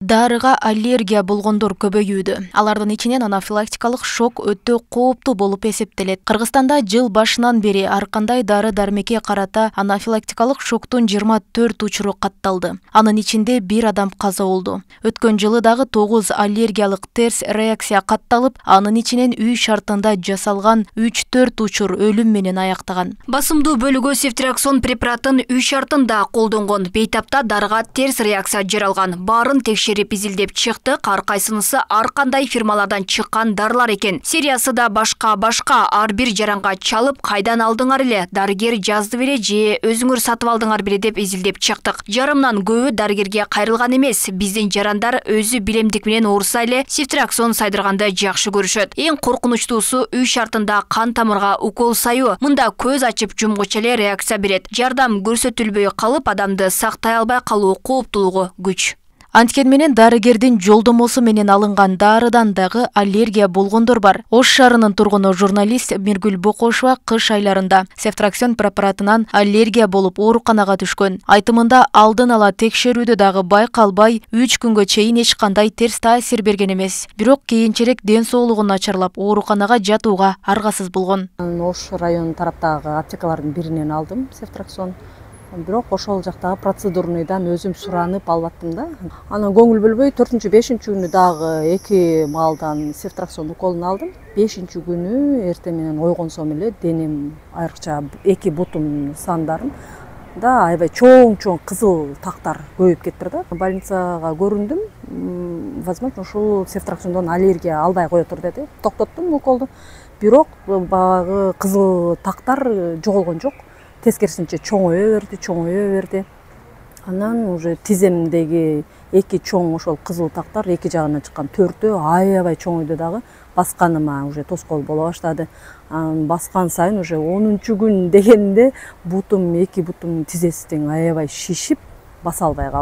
Дарыга аллергия болгондор көбөйүүдө. Алардын ичинен анафилактикалык шок өтө кооптуу болуп эсептелет. Кыргызстанда жыл башынан бери ар кандай дары-дармекке карата анафилактикалык шоктун 24 учуру катталды. Анын ичинде 1 адам каза болду. Өткөн жылы дагы 9 аллергиялык терс реакция катталып, анын ичинен үй шартында жасалган 3-4 учур өлүм менен аяктаган. Басымдуу бөлүгү сефтраксон препаратын үй шартында колдонгон. Бейтапта дарыга терс реакция жаралган. Баарын текшерип изилдеп чыкты, ар кайсынысы ар кандай фирмалардан чыккан дарылар экен. Сериясы да башка ар бир жаранга чалып, кайдан алдыңар эле, дарыгер жазды беле же өзүңөр сатып алдыңар беле деп изилдеп чыктык. Жарымдан көбү дарыгерге кайрылган эмес. Биздин жарандар өзү билемдик менен ооруса эле сефтраксон сайдырганды жакшы көрүшөт. Эң коркунучтуусу үй шартында кан тамырга укол саюу. Мында көз ачып жумгуча эле реакция берет. Жардам көрсөтүлбөй калып, адамды сактай албай калуу кооптуулугу күч. Анткени менен дарыгердин жолдомосу менен алынган дарыдан дагы аллергия болгондор бар. Ош шаарынын тургуну журналист Миргүл Бокошова кыш айларында сефтраксон препаратынан аллергия болуп ооруканага түшкөн. Айтымында алдын ала текшерүүдө дагы байкалбай 3 күнгө чейин эч кандай терс таасир берген эмес. Бирок кийинчерээк ден соолугу начарлап ооруканага жатууга аргасыз болгон. Ош район тараптагы аптекалардын биринен алдым сефтраксон. Бирок ошол жактагы процедурныйдан өзүм суранып албаттым да. Анан көңүл бөлбөй 4-5 күнү дагы 2 маалдан сефтраксон уколун алдым. 5 күнү эртең менен ойгонсом эле денем айрыкча 2 бутум сандарым да аябай чоң кызыл тактар көбөйүп кетти да. Больницага көрүндүм. Возможно, ушул сефтраксондон аллергия албай коетур деди. Токтоттум уколду. Бирок баягы кызыл тактар жоголгон жок. Тескерисинче чоңое берди. Анан уже тиземдеги 2 чоң ошол кызыл тактар эки жагынан чыккан 4-өө аябай чоңойду дагы. Басканыма уже тоскоол боло баштады. Баскан сайын уже 10-чу күн дегенде 2 бутум тизесиң аябай шишип, баса албай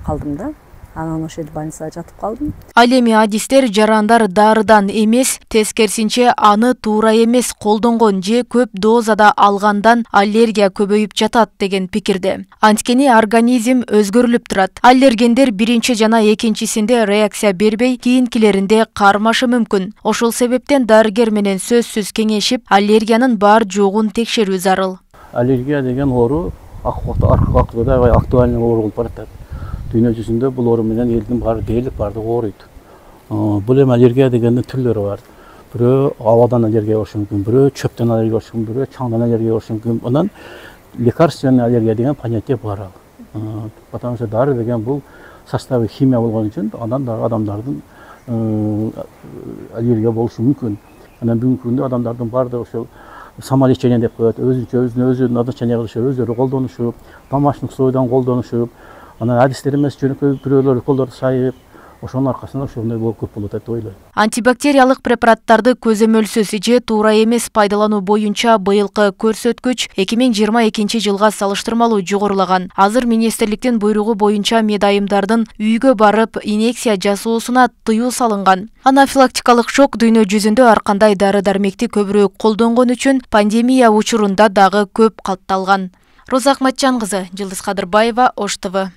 калдым да. Анан ошол больницага жатып калдым. Ал эми адистер жарандар дарыдан эмес, тескерисинче аны туура эмес колдонгон же көп дозада алгандан аллергия көбөйүп жатат деген пикирде. Анткени организм өзгөрүлүп турат. Аллергендер биринчи жана экинчисинде реакция бербей, кийинкилеринде кармашы мүмкүн. Ошол себептен дарыгер менен сөзсүз кеңешип, аллергиянын бар жогун текшерүү зарыл. Аллергия деген оору акыбада актуальный оору болуп баратат. Дүйнө жүзүндө бул оору менен элдин дээрлик бардыгы ооруйт. Бул эми аллергия дегендин түрлөрү бар. Бирөө абадан аллергия болушу мүмкүн, бирөө чөптөн аллергия болушу мүмкүн, бирөө чаңдан аллергия болушу мүмкүн. Анан лекарственный аллергия деген понятие бар. Потому что дары деген бул составы химия болгон үчүн андан да адамдардын аллергия болушу мүмкүн. Анан бүгүнкү күндө адамдардын бардыгы ошол самолечение деп коет, өзүнүн назначение кылышып, өздөрү колдонушуп, домашний условиядан колдонушуп, анан адистер эмес жөнөкөй бирөөлөр уколдорду сайып, ошонун аркасында ошондой көп болуп атат деп ойлойм. Антибактериялык препараттарды көзөмөлсүз же туура эмес пайдалануу боюнча быйылкы көрсөткүч 2022 жылга салыштырмалуу жогорулаган. Азыр министрликтин буйругу боюнча медайымдардын үйгө барып инъекция жасоосуна тыюу салынган. Анафилактикалык шок дүйнө жүзүндө ар кандай дары-дармекти көбүрөөк колдонгон үчүн пандемия учурунда дагы көп катталган. Роза Акматжан кызы, Жылдыз Кадырбаева, Ош ТВ.